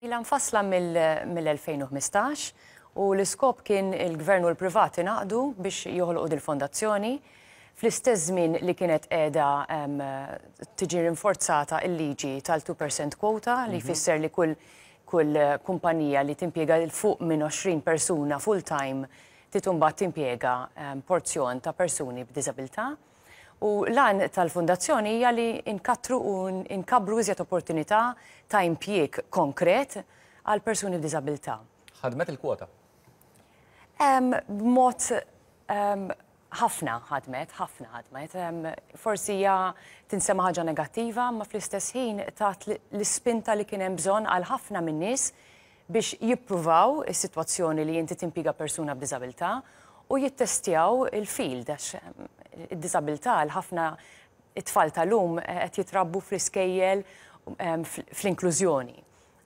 Ilha mfassla mill-2015 u l-iskop kien il-Gvern u l-privat ingħaqdu biex joħolqu dil-fondazzjoni fl-istess żmien li kienet qiegħda tiġi rinforzata l-liġi tal-2% quota li jfisser li kull kull kumpanija li timpjega 'l fuq minn 20 persuna full-time trid imbagħad timpjega porzjon ta' persuni b'diżabilità. U l-għan tal-fundazzjoni hija li nkattru u nkabbru iżjed opportunità ta' impjieg konkret għal persuni b'diżabilità. Ħadmet il-kwota? B'mod ħafna ħadmet, ħafna ħadmet. Forsi hija tinsema' ħaġa negattiva, imma fl-istess ħin tat l-ispinta li kien hemm bżonn għal ħafna min-nies biex jippruvaw is-sitwazzjoni li inti timpjiega persuna b'diżabilità u jittestjaw il-field għax id-diżabilità għal ħafna it-tfal tal-lum qed jitrabbu fl-iskejjel fl-inklużjoni.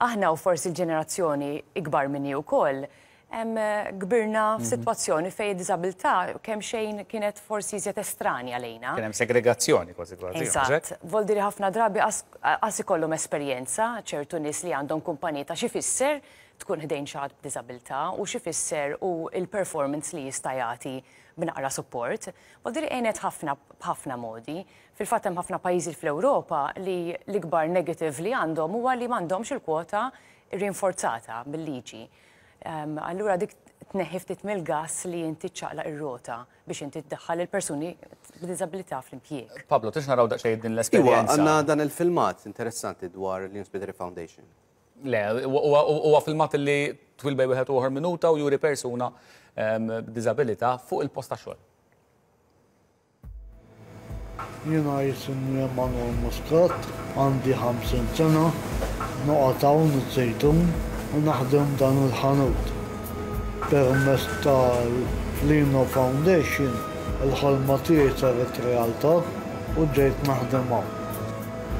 Aħna u forsi l-ġenerazzjoni ikbar minni wkoll kbirna f'sitwazzjoni fejn id-diżabilità kemxejn kienet forsi iżjed estranja lejna. Kien hemm segregazzjoni kważi kważi. Eżatt. Voldiri ħafna drabi qas ikollhom esperjenza ċertu nies li għandhom kumpaniji ta' x'ifisser tkun ħdejn xi ħadd b'diżabilità u x'ifisser u l-performance li jista' jagħti b'naqra support. Voldiri għenet ħafna b'ħafna modi. Fil-fatt hemm ħafna pajjiżi fl-Ewropa li l-ikbar negative li għandhom huwa li m'għandhomx il-kwota rinforzata bil-liġi. Allura dik tneħħi ftit mill-gass li inti ċċaqlaq ir-rota biex inti tdaħħal il-persuni b'diżabilità fl-impjieg. Pablo, tix naraw daqsxejn din l-esperjenza. Iwa, għandna dan il-filmat interessanti dwar l-Inspideri Foundation. Le, huwa filmat li twil bej wieħed u oħor minuta u juri persuna b'diżabilità fuq il-post ta' xogħol. Jiena jisimni Emanuel Muscat, għandi 50 sena, noqgħod hawn iż-Żejtun u naħdem dan il-ħanut. Permezz tal-Lino Foundation il-ħolma tiegħi saret realtà u ġejt naħdem hawn.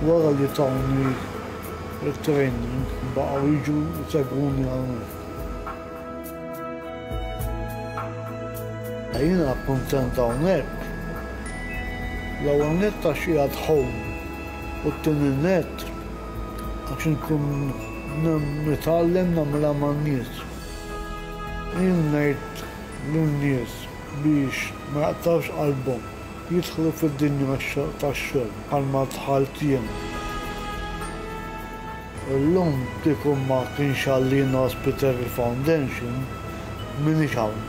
Wara li tawni t-training baqgħu jiġu jsegwuni hawnhekk. Jiena kuntent hawnhekk. L-ewwel nett għax qiegħed home u t-tieni nett għax inkun nitgħallem nagħmilha man-nies. Jien ngħid lin-nies biex ma jaqtgħux qalbhom, jidħlu fid-dinja tax-xogħol bħalma dħalt jien. Illum kieku ma kienx għal-Lino Hospital Foundation, m'iniex hawn.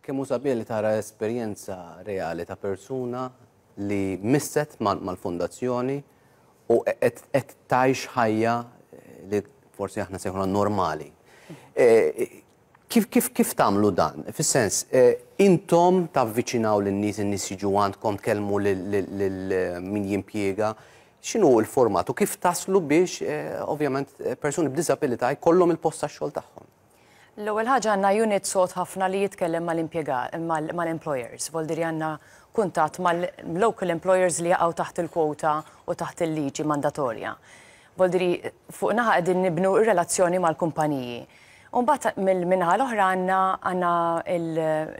Kemm hu sabiħ li tara esperjenza reali ta' persuna li misset mal-fondazzjoni u qed tgħix ħajja li forsi aħna sejħuna normali. Kif kif kif tagħmlu dan? Fis-sens, intom tavviċinaw lin-nies, in-nies jiġu għandkom tkellmu lil min jimpjiega. X'inhu l-format u kif taslu biex ovvjament persuni b'diżabilità jkollhom il-post tax-xogħol tagħhom? L-ewwel ħaġa għandna unit sod ħafna li jitkellem mal-employers. Voldiri għandna kuntatt mal-local employers li jaqgħu taħt il-kwota u taħt il-liġi mandatorja. Voldiri fuq naħa qegħdin nibnu r-relazzjoni mal-kumpaniji. U mbagħad mill-naħa l-oħra għandna għandna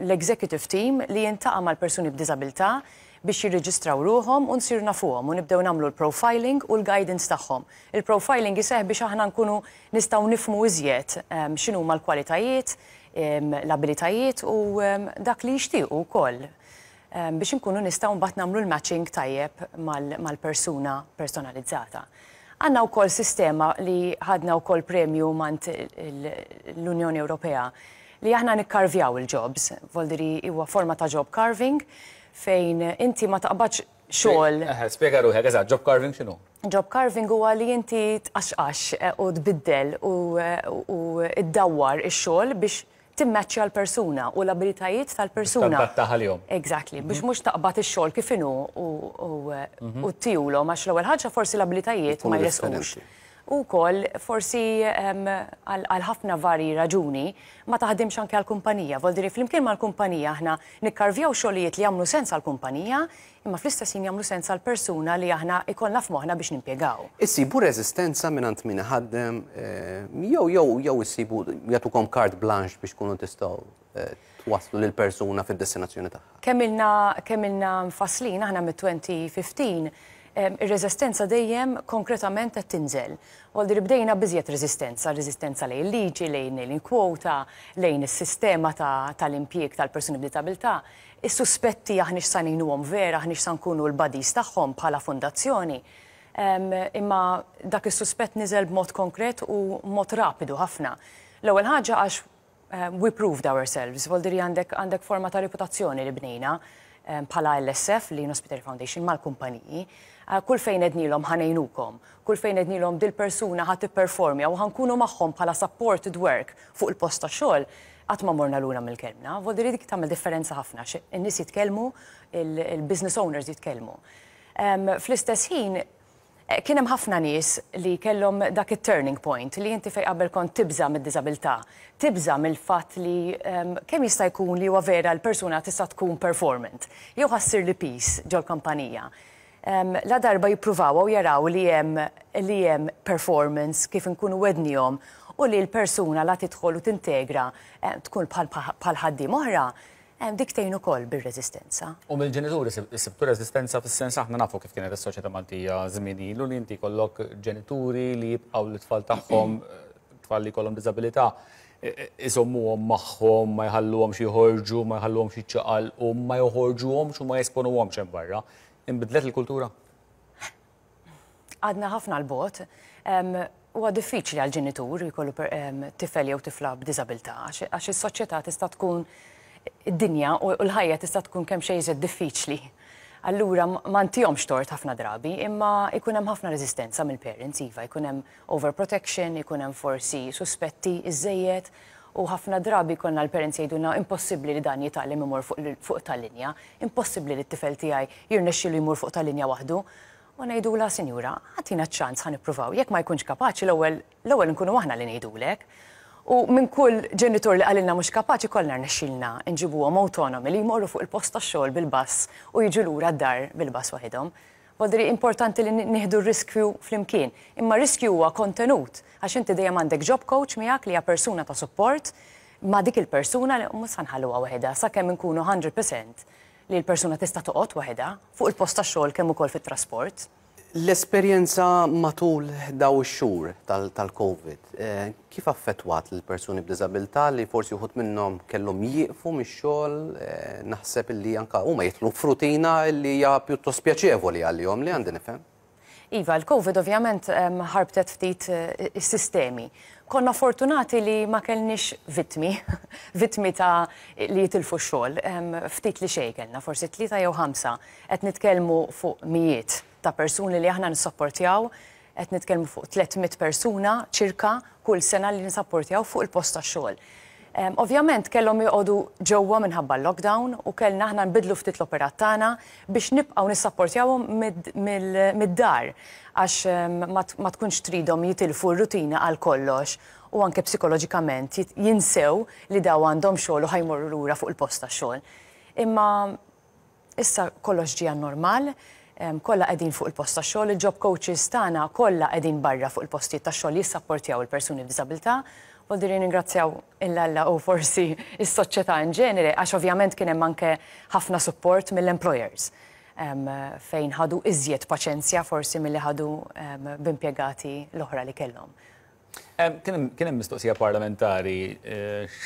l-executive team li jiltaqa' mal-persuni b'diżabilità biex jirreġistraw ruħhom u nsiru nafuhom u nibdew nagħmlu l-profiling u l-guidance tagħhom. Il-profiling iseħħ biex aħna nkunu nistgħu nifhmu iżjed x'inhuma l-kwalitajiet, l-abilitajiet u dak li jixtiequ wkoll biex inkunu nistgħu mbagħad nagħmlu l-matching tajjeb mal-persuna personalizzata. Għandna wkoll sistema li ħadna wkoll premju mant l-Unjoni Ewropea li aħna nikkarvjaw il-jobs, voldiri huwa forma ta' job carving fejn inti ma taqbadx xogħol. Spjega ruħek, eżatt, job carving x'inhu? Job carving huwa li inti tqaxqax u tbiddel u ddawwar ix-xogħol biex timmaċċja l-persuna u l-abilitajiet tal-persuna. Tadattaha għalihom. Exactly, biex mhux taqbad ix-xogħol kif inhu u ttihulhom għax l-ewwel ħaġa forsi l-abilitajiet ma jresqux. U wkoll forsi għal ħafna varji raġuni ma taħdimx anke għall-kumpanija. Voldiri flimkien mal-kumpanija aħna nikkarvjaw xogħlijiet li jagħmlu sens għall-kumpanija imma fl-istess ħin jagħmlu sens għall-persuna li aħna ikollna f'moħħna biex nimpjegaw. Issibu reżistenza mingħand min iħaddem jew jew jew issibu jagħtukom carte blanche biex tkunu tistgħu. twasslu lill-persuna fid-destinazzjoni tagħha. Kemm ilna mfasslin aħna mit-2015, ir-reżistenza dejjem konkretament qed tinżel. Voldir bdejna b'iżjed reżistenza, reżistenza lejn il-liġi, lejn il-kwota, lejn is-sistema tal-impjieg tal-persuni b'diżabilità. Is-suspetti aħniex sa ngħinuhom vera, aħniex sa nkunu l-buddies tagħhom bħala fondazzjoni. Imma dak is-suspett niżel b'mod konkret u mod rapidu ħafna. L-ewwel ħaġa għax we proved ourselves, voldiri għandek forma ta' reputazzjoni li bnejna bħala LSF, Lino Spiteri Foundation, mal-kumpaniji. Kull fejn għednielhom ħa ngħinukom, kull fejn għednielhom dil-persuna ħa tipperformja u ħa nkunu magħhom bħala supported work fuq il-post ta' xogħol, qatt ma morna lura mill-kelmna. Voldiri dik tagħmel differenza ħafna, in-nies jitkellmu, il-business owners jitkellmu. Fl-istess ħin, kien hemm ħafna nies li kellhom dak it-turning point li inti fej qabel kont tibża mid-diżabilità, tibża mill-fatt li kemm jista' jkun li huwa vera l-persuna tista' tkun performant, jew ħa ssirli piż ġol-kampanija. La darba jippruvaw u jaraw li hemm performance kif inkunu wegħednihom u li l-persuna la tidħol u tintegra tkun bħal ħaddiem oħra, dik tgħin ukoll bir-reżistenza. U mill-ġenituri sibtu reżistenza, fis-sens aħna nafu kif kienet is-soċjetà Maltija żmien ilu, li inti kollok ġenituri li jibqgħu l-tfal tagħhom, tfal li jkollhom diżabilità, iżommuhom magħhom, ma jħalluhomx joħorġu, ma jħalluhomx jiċċaqalqu, ma joħorġuhomx u ma jesponuhomx hemm barra. Inbidlet il-kultura? Għadna ħafna 'l bogħod. Huwa diffiċli għal ġenitur jkollu tifel jew tifla b'diżabilità għax is-soċjetà tista' tkun, id-dinja u l-ħajja tista' tkun kemm xejn iżjed diffiċli. Allura ma ntihomx tort ħafna drabi, imma ikun hemm ħafna reżistenza mill-parents, iva, ikun hemm overprotection, ikun hemm forsi suspetti iżejjed u ħafna drabi konna l-parents jgħidulna: "Impossibbli li dan jitgħallem imur fuq tal-linja, impossibbli li t-tifel tiegħi jirnexxilu jmur fuq tal-linja waħdu." U ngħidula: "Sinjura, agħtina ċans, ħa nippruvaw. Jekk ma jkunx kapaċi, l-ewwel nkunu aħna li ngħidulek." U minn kull ġenitur li qalilna mhux kapaċi, kollna rnexxilna nġibuhom autonomi li jmorru fuq il-post tax-xogħol bil-bus u jiġu lura d-dar bil-bus waħedhom. Voldiri importanti li nieħdu r-riskju flimkien. Imma riskju huwa kontenut, għax inti dejjem għandek job coach miegħek li hija persuna ta' support ma' dik il-persuna li mhux sa nħalluha waħedha sakemm inkunu 100% li l-persuna tista' toqgħod waħedha fuq il-post tax-xogħol kemm ukoll fit-trasport. L-esperjenza matul daw ix-xhur tal-COVID, kif affettwat l-persuni b'diżabilità li forsi uħud minnhom kellhom jieqfu mix-xogħol, naħseb li anka huma jidħlu f'rutina li hija pjuttost pjaċevoli għalihom, li għandi nifhem? Iva, l-COVID ovvjament ħarbtet ftit is-sistemi. Konna fortunati li ma kellniex vittmi, vittmi ta' li jitilfu x-xogħol. Ftit li xejn kellna, forsi tlieta jew ħamsa. Qed nitkellmu fuq mijiet ta' persuni li aħna nissapportjaw, qed nitkellmu fuq 300 persuna ċirka kull sena li nisapportjaw fuq il-post tax-xogħol. Ovvjament kellhom joqogħdu ġewwa minħabba l-lockdown u kellna aħna nbidlu ftit l-operat tagħna biex nibqgħu nissapportjawhom mid-dar għax ma tkunx tridhom jitilfu r-rutina għal kollox u anke psikoloġikament jinsew li daw għandhom xogħol u ħa jmorru lura fuq il-post tax-xogħol. Imma issa kollox ġie normal, kollha qegħdin fuq il-post tax-xogħol, il-job coaches tagħna kollha qegħdin barra fuq il-postijiet tax-xogħol jissapportjaw il-persuni b'diżabilità. Voldiri ningrazzjaw 'l Alla u forsi is-soċjetà in ġenere, għax ovvjament kien hemm anke ħafna support mill-employers fejn ħadu iżjed paċenzja forsi milli ħadu b'impjegati l-oħra li kellhom. Kien hemm mistoqsija parlamentari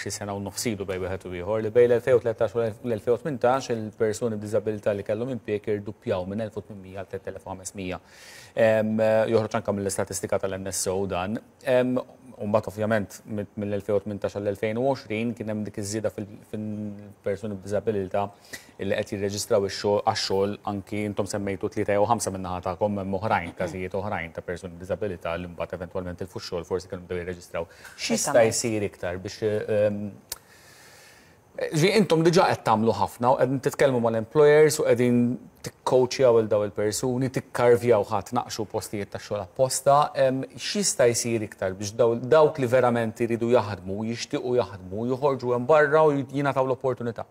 xi sena u nofs ilu bejn wieħed u ieħor li bejn l-2013 u l-2018 il-persuni b'diżabilità li kellhom impjieg irduppjaw minn 1800 għal 3500. Joħroġ anke mill-istatistika tal-NSO dan. U mbagħad ovvjament mill-2018 għall-2020 kien hemm dik iż-żieda fil-persuni b'diżabilità li qed jirreġistraw ix-xogħol għax-xogħol. Anki intom semmejtu tlieta jew ħamsa min-naħa tagħkom, hemm oħrajn, każijiet oħrajn ta' persuni b'diżabilità li mbagħad eventwalment tilfu x-xogħol, forsi kienu bdew jirreġistraw. X'jista' jsir iktar biex ġi intom diġà qed tagħmlu ħafna u qegħdin titkellmu mal-employers u qegħdin tikcoachjaw il daw il-persuni, tikkarvjaw ħa tnaqqxu postijiet ta' xogħol apposta. X'jista' jsir iktar biex dawk li verament iridu jaħdmu, jixtiequ jaħdmu, joħorġu hemm barra u jingħataw l-opportunità?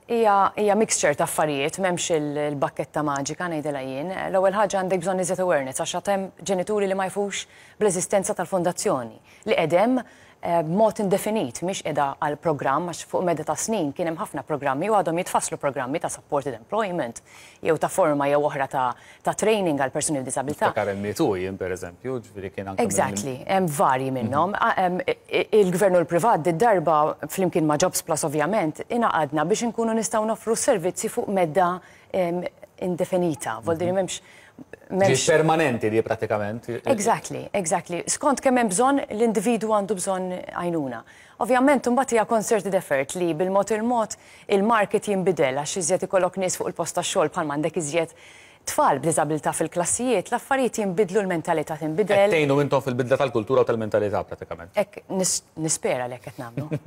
Hija mixture ta' affarijiet, m'hemmx il-bakketta maġika, ngħidilha jien. L-ewwel ħaġa, għandek bżonn iżjed awareness għax għad hemm ġenituri li ma jafux bl-eżistenza tal-fondazzjoni li qegħdem. B'mod indefinit, mhix qiegħda għal programm għax fuq medda ta' snin kien hemm ħafna programmi u għadhom jitfasslu programmi ta' supported employment jew ta' forma jew oħra ta' training għal persuni b'diżabilità. Niftakar ME2 jien pereżempju, ġifieri kien anke. Exactly, hemm varji minnhom. Il-Gvern u l-privat did-darba flimkien ma' Jobs Plus ovvjament ingħaqadna biex inkunu nistgħu noffru s-servizzi fuq medda indefinita. Vuol dire m'hemmx Ġiet permanenti di pratikament. Exactly, exactly. Skont kemm hemm bżonn l-individwu għandu bżonn għajnuna. Ovvjament imbagħad hija concerted effort li bil-mod il-mod il-market jinbidel għax iżjed ikollok nies fuq il-post tax-xogħol bħalma għandek iżjed tfal b'diżabilità fil-klassijiet, l-affarijiet jinbidlu, l-mentalità tinbidel. Qed tgħinu intom fil-bidla tal-kultura u tal-mentalità pratikament. Hekk nispera li hekk qed nagħmlu.